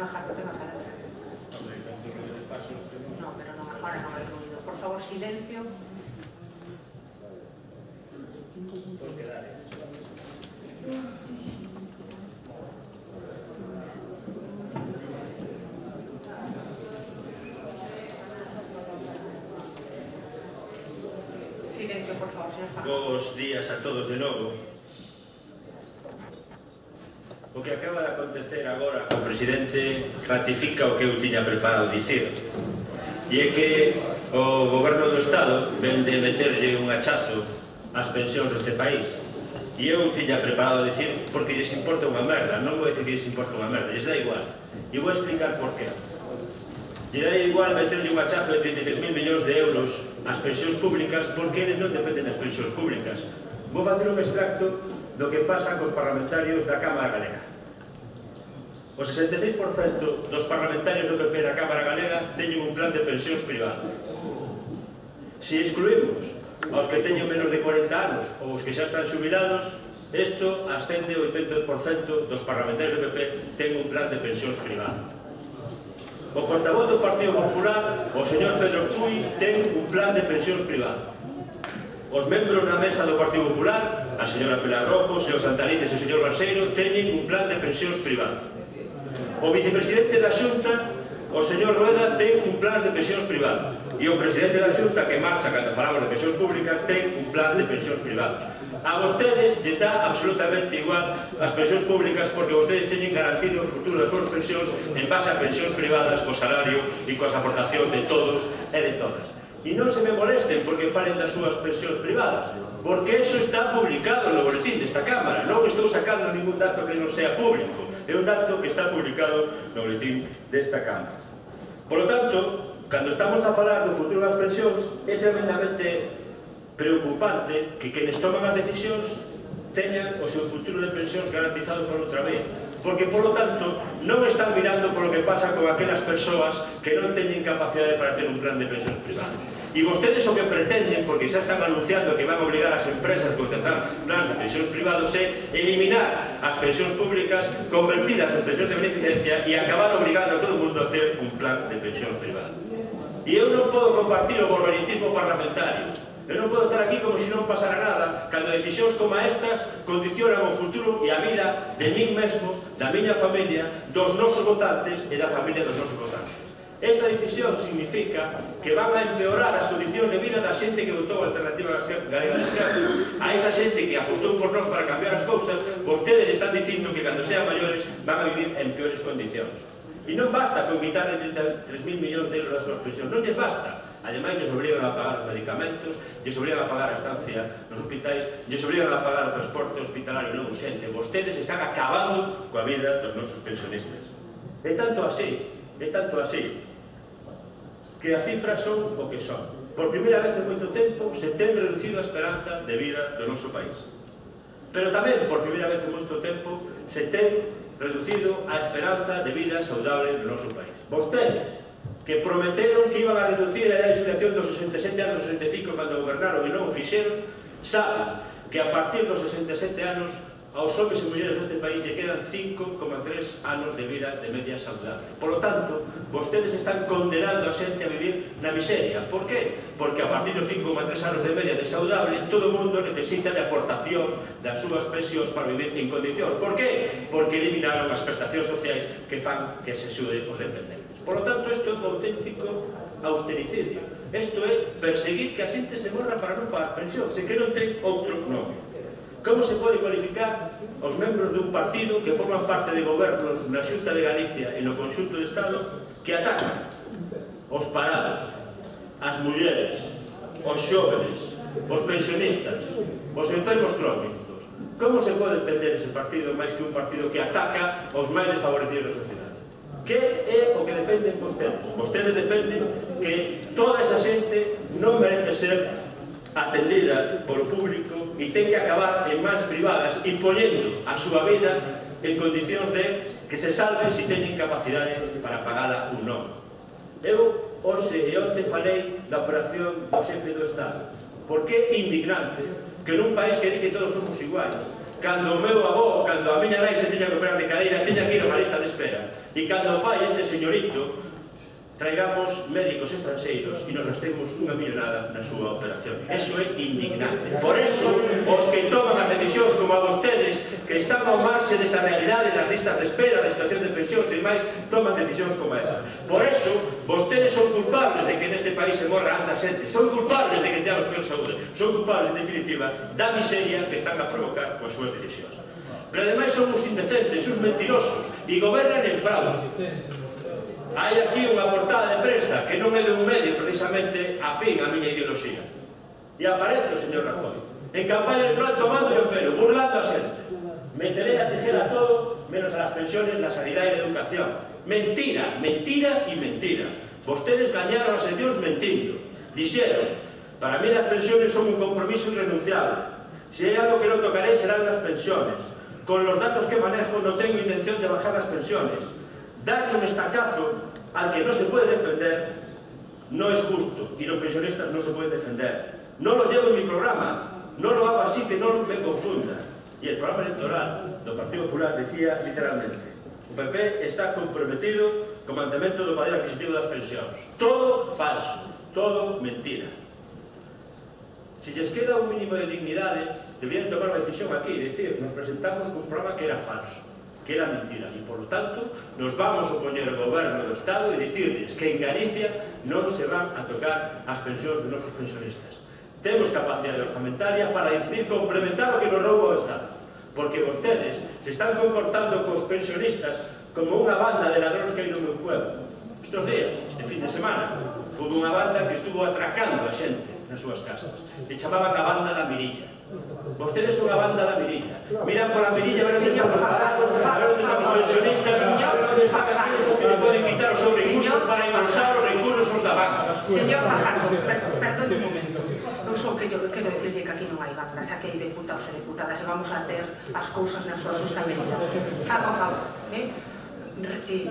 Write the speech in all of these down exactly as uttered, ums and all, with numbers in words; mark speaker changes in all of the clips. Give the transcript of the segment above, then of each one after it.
Speaker 1: Fajardo ten a palabra. No, pero non, agora non hai ruido. Por favor, silencio.
Speaker 2: Por quedar.
Speaker 1: Silencio, por favor, señor Fajardo.
Speaker 3: Bos días a todos de novo. O que acaba de acontecer agora, o presidente ratifica o que eu tiña preparado dicir. E é que o goberno do Estado ven de meterlle un hachazo ás pensións deste país. E eu tiña preparado dicir porque lles importa unha merda. Non vou dicir que lles importa unha merda, lles dá igual. E vou explicar por qué. Lles dá igual meterlle un hachazo de trinta e tres mil millóns de euros ás pensións públicas porque eles non dependen das pensións públicas. Vou facer un extracto do que pasa cos parlamentarios da Cámara Galega. O sesenta e seis por cento dos parlamentarios do P P na Cámara Galega teñen un plan de pensións privadas. Se excluímos aos que teñen menos de cuarenta anos ou os que xa están xubilados, isto ascende ao oitenta por cento dos parlamentarios do P P ten un plan de pensións privadas. O portavoz do Partido Popular, o señor Pedro Puy, ten un plan de pensións privadas. Os membros da mesa do Partido Popular, a señora Pilar Rojo, o señor Santalices e o señor Balseiro, teñen un plan de pensións privadas. O vicepresidente da Xunta, o señor Rueda, ten un plan de pensións privadas. E o presidente da Xunta, que marcha cando falamos de pensións públicas, ten un plan de pensións privadas. A vostedes lles dá absolutamente igual as pensións públicas porque vostedes teñen garantido o futuro das súas pensións en base a pensións privadas, co salario e coas aportacións de todos e de todas. E non se me molesten porque falen das súas pensións privadas, porque eso está publicado no boletín desta Cámara. Non estou sacando ningún dato que non sea público, é un dato que está publicado no boletín desta Cámara. Por lo tanto, cando estamos a falar do futuro das pensións, é tremendamente preocupante que quenes toman as decisións teñan o seu futuro de pensións garantizado por outra vez, porque, por lo tanto, non están mirando por lo que pasa con aquelas persoas que non teñen capacidade para ter un plan de pensións privado. E vostedes o que pretenden, porque xa están anunciando que van a obligar as empresas a contratar plans de pensións privados, é eliminar as pensións públicas, convertidas en pensións de beneficencia e acabar obligando a todo o mundo a ter un plan de pensións privado. E eu non podo compartir o borboletismo parlamentario. Eu non podo estar aquí como se non pasara nada cando decisións como estas condicionan o futuro e a vida de min mesmo, da miña familia, dos nosos votantes e da familia dos nosos votantes. Esta decisión significa que van a empeorar as condicións de vida da xente que votou a Alternativa Galega de Esquerda. A esa xente que apostou por nós para cambiar as cousas, vostedes están dicindo que cando sean maiores van a vivir en peores condicións. E non basta con quitarle trinta e tres mil millóns de euros das súas pensións, non lles basta. Ademais, lles obrigan a pagar os medicamentos, lles obrigan a pagar a estancia nos hospitais, lles obrigan a pagar o transporte hospitalario non urxente. Vostedes están acabando coa vida dos nosos pensionistas. É tanto así, é tanto así, que as cifras son o que son. Por primeira vez en moito tempo se ten reducido a esperanza de vida do noso país. Pero tamén, por primeira vez en moito tempo, se ten reducido a esperanza de vida saudable no noso país. Vostedes, que prometeron que iban a reducir a edade de xubilación dos sesenta e sete anos aos sesenta e cinco cando gobernaron e non o fixeron, saben que a partir dos sesenta e sete anos aos homens e mulleres deste país lle quedan cinco coma tres anos de vida de media saudable. Por lo tanto, vostedes están condenando a xente a vivir na miseria. Por qué? Porque a partir dos cinco coma tres anos de media de saudable, todo o mundo necesita de aportacións das súas pensións para vivir en condicións. Por qué? Porque eliminaron as prestacións sociais que fan que se xude os dependentes. Por lo tanto, isto é un auténtico austericidio. Isto é perseguir que a xente se morra para non pagar pensión, se que non ten outro nome. Como se pode cualificar os membros dun partido que forman parte de gobernos na Xunta de Galicia e no conxunto do Estado que atacan os parados, as mulleres, os xóvenes, os pensionistas, os enfermos crónicos? Como se pode entender ese partido máis que un partido que ataca aos máis desfavorecidos da sociedade? Que é o que defenden vostedes? Vostedes defenden que toda esa xente non merece ser atendida polo público e ten que acabar en mans privadas e poñendo a súa vida en condicións de que se salven se teñen capacidade para pagala ou non. Eu, hoxe e onte, falei da operación do xefe do Estado, porque é indignante que nun país que di que todos somos iguais, Cando o meu avó, cando a miña nai se tiña que operar de cadeira, tiña que ir a unha lista de espera. E cando fai este señorito, traigamos médicos estranxeiros e nos gastemos unha millonada na súa operación. Eso é indignante. Por eso, os que toman as decisións como a vostedes, que están ao marxe desa realidade das listas de espera, da situación de pensións e demais, toman decisións como esa. Por eso, vostedes son culpables de que neste país se morra tanta xente, son culpables de que teamos peor saúde, son culpables, en definitiva, da miseria que están a provocar coas súas decisións. Pero ademais son uns indecentes, uns mentirosos, e gobernan en fraude. Hai aquí unha portada de prensa que non é de un medio precisamente afín á miña ideoloxía. E aparece o señor Rajoy en campaña electoral tomando o pelo, burlando a xente. Meteré a tijera a todo, menos a las pensiones, la sanidad e la educación. Mentira, mentira e mentira. Vostedes gañaron as eleccións mentindo. Dixeron, para mí las pensiones son un compromiso irrenunciable. Si hai algo que non tocaré serán las pensiones. Con los datos que manejo no tengo intención de bajar las pensiones. Darle un estacazo al que no se puede defender no es justo y los pensionistas no se pueden defender. No lo llevo en mi programa, no lo hago así que no me confunda. Y el programa electoral do Partido Popular decía literalmente: o P P está comprometido co mantemento do poder adquisitivo das pensións. Todo falso, todo mentira. Si lles queda un mínimo de dignidade, deberían tomar unha decisión aquí e dicir, nos presentamos un programa que era falso, que era mentira, e, por lo tanto, nos vamos a opoñer ao goberno do Estado e dicirles que en Galicia non se van a tocar as pensións de nosos pensionistas. Temos capacidade orzamentaria para decidir complementar o que nos rouba o Estado, porque vostedes se están comportando cos pensionistas como unha banda de ladróns que hai no meu pueblo. Estos días, este fin de semana, houve unha banda que estuvo atracando a xente nas súas casas. Se chamaban a banda da Mirilla. Vostedes son a banda da Mirilla. Miran pola Mirilla, ver onde están os parados, a ver onde están os pensionistas, a ver onde están aqueles que le poden quitar os seus recursos para impulsar os recursos da banca.
Speaker 1: Señor Fajardo, perdón un momento. Non só que eu quero dicirle que aquí non hai bandas, aquí hai deputados e deputadas e vamos a ter as cousas na súa sustabilidade. Fago favor, eh?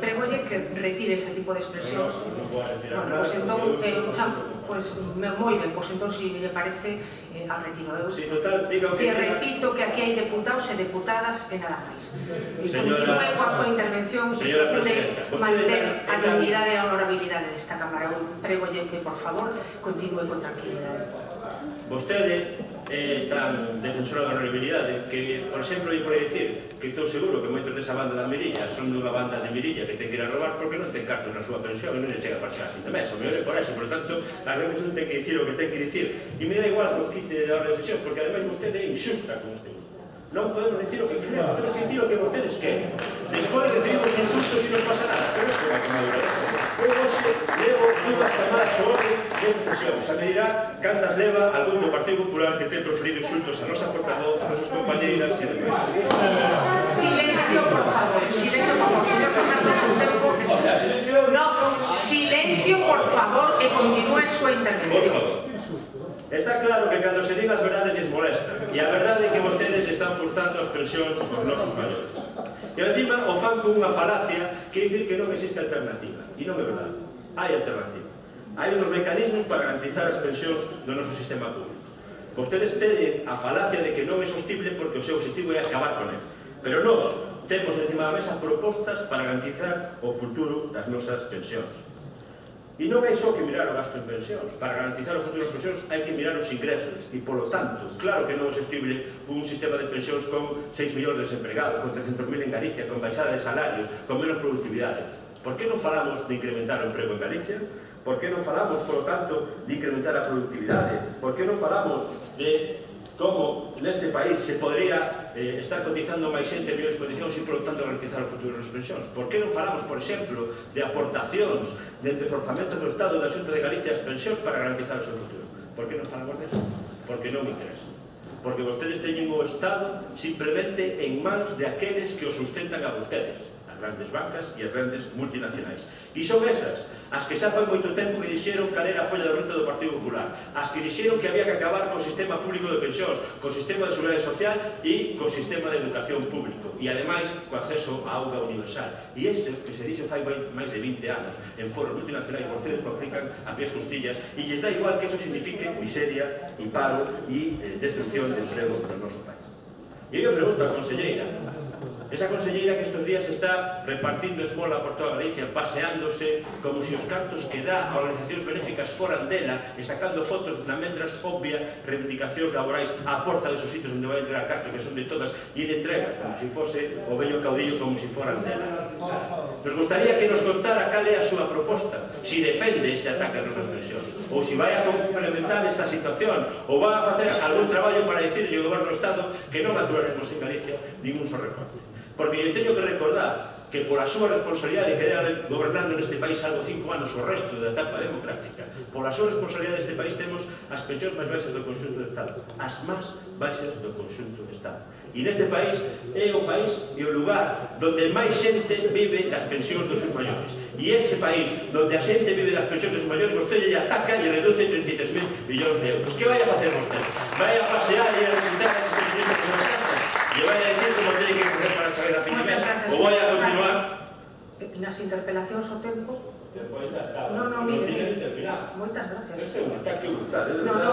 Speaker 1: Pregolle que retire ese tipo de expresións. Bueno, pois entón, pois moi ben, pois entón, se lle parece, al retiro. Eu que repito que aquí hai deputados e deputadas e nada máis. E continúe coa súa intervención se procure manter a dignidade e a honorabilidade desta Cámara. Eu pregolle que, por favor, continúe con tranquilidade.
Speaker 3: Vostede é tan defensora da honorabilidade que, por exemplo, eu pode dicir que estou seguro que moitos desa banda da Mirilla son dunha banda de Mirilla que ten que ir a robar porque non ten cartos na súa pensión e non lle chega para chegar a fin de mes. O mellor é por eso, por tanto, as veces non ten que dicir o que ten que dicir. E me dá igual que quite da orde de sesión, porque ademais vostede é injusta con este grupo. Non podemos dicir o que queremos, temos que dicir o que vostedes queren. Despois recibimos insultos e non pasa nada, pero isto vai como dura. Eu hoxe levo dúas chamadas ao orde desta sesión. Xa me dirá cantas leva algún do Partido Popular que ten proferido insultos a nosa portavoz, a nosas compañeiras e demais.
Speaker 1: Silencio, por favor. Silencio, por favor. Señor Fernando, o sea, silencio. No, silencio, por favor, e continúe a súa intervención.
Speaker 3: Por favor. Está claro que cando se diga as verdades les molesta, e a verdade é que vostedes están furtando as pensións dos nosos maiores. E encima o fan con unha falacia que dicir que non existe alternativa. E non é verdade. Hai alternativa. Hai uns mecanismos para garantizar as pensións do noso sistema público. Vostedes teñen a falacia de que non é sostible porque o seu objetivo é acabar con ele. Pero nós temos encima da mesa propostas para garantizar o futuro das nosas pensións. E non hai só que mirar o gasto en pensións. Para garantizar o futuro das pensións hai que mirar os ingresos. E, polo tanto, claro que non é sostible un sistema de pensións con seis millóns de desempregados, con trescentos mil en Galicia, con baixada de salarios, con menos productividade. Por que non falamos de incrementar o emprego en Galicia? Por que non falamos, polo tanto, de incrementar a productividade? Por que non falamos de como neste país se podría eh, estar cotizando máis xente en mellores condicións e, por lo tanto, garantizar o futuro das pensións? Por que non falamos, por exemplo, de aportacións dentro dos orzamentos do Estado da Xunta de Galicia as pensións para garantizar o seu futuro? Por que non falamos deso? Porque non me interesa. Porque vostedes teñen o Estado simplemente en mans de aqueles que o sustentan a vostedes, as grandes bancas e as grandes multinacionais. E son esas as que xa fai moito tempo que dixeron cal era a folla de ruta do Partido Popular, as que dixeron que había que acabar co sistema público de pensións, co sistema de seguridade social e co sistema de educación público, e ademais co acceso á auga universal. E ese que se dixo fai máis de vinte anos en foros multinacionais, vostedes o aplican a pies costillas e lles dá igual que eso signifique miseria e paro e eh, destrucción de emprego do noso país. E eu pregunto á conselleira, esa conselleira que estes días está repartindo esmola por toda Galicia, paseándose como se os cartos que dá a organizacións benéficas foran dela e sacando fotos na mentras obvia reivindicacións laborais á porta desos sitios onde vai entregar cartos que son de todas e ele entrega como se fose o vello caudillo como se foran dela. Nos gustaría que nos contara cal é a súa proposta, si defende este ataque ás nosas pensións ou si vai a complementar esta situación ou vai a facer algún traballo para dicirle ao goberno do Estado que non aturaremos en Galicia ningún só recorte. Porque eu teño que recordar que por a súa responsabilidade que era gobernando neste país algo cinco anos o resto da etapa democrática, por a súa responsabilidade neste país temos as pensións máis baixas do conxunto do Estado, as máis baixas do conxunto do Estado. E neste país é o país e o lugar donde máis xente vive das pensións dos seus maiores. E ese país donde a xente vive das pensións dos seus maiores, vostede lle ataca e reduce treinta e tres mil millóns de euros. Que vai a facer vostede? Vai a pasear e a visitar as pensiones das casas? E vai a decir como teñe que coger para chegar a fin de mes? Ou vai a continuar?
Speaker 1: Nas interpelacións o tempo...
Speaker 3: Despois está.
Speaker 1: No, no, mire.
Speaker 3: Non tiene que terminar.
Speaker 1: Moitas gracias.
Speaker 3: Este é un ataque brutal.
Speaker 1: No, no,